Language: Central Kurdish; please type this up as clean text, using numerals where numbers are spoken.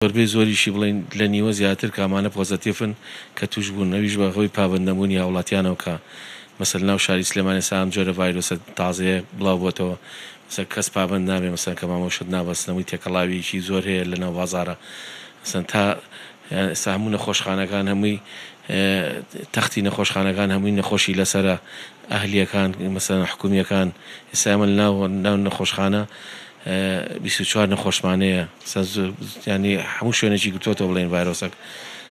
زۆربەی زۆریشی بڵێین لە نیوە زیاتر کامانە پۆزەتیفن کە توش بوون ئەویش بە هۆی پابەند نەبوونی هاوڵاتیانەوە کە مەسەلەن ناو شاری سلێمانی ئێستا ئەم جۆرە ڤایرۆسە تازەیە بڵاو بۆتەوە مەسەلەن کەس پابەند نابێ مەسەلەن کەمامە و شت نابەستن هەمووی تێکەڵاویەکی زۆر هەیە لە ناو بازارە مەسەلەن تا ئێستا هەموو نەخۆشخانەکان هەمووی تەختی نەخۆشخانەکان هەمووی نەخۆشی لەسەرە ئەهلیەکان مەسەلەن حکومیەکان ئێستا ئێمە لە ناو ناو نەخۆشخانە 24 نەخۆشمان هەیە ینی هەموو شوێنێکی گرتووەتەوە بڵێن ڤایرۆسەک.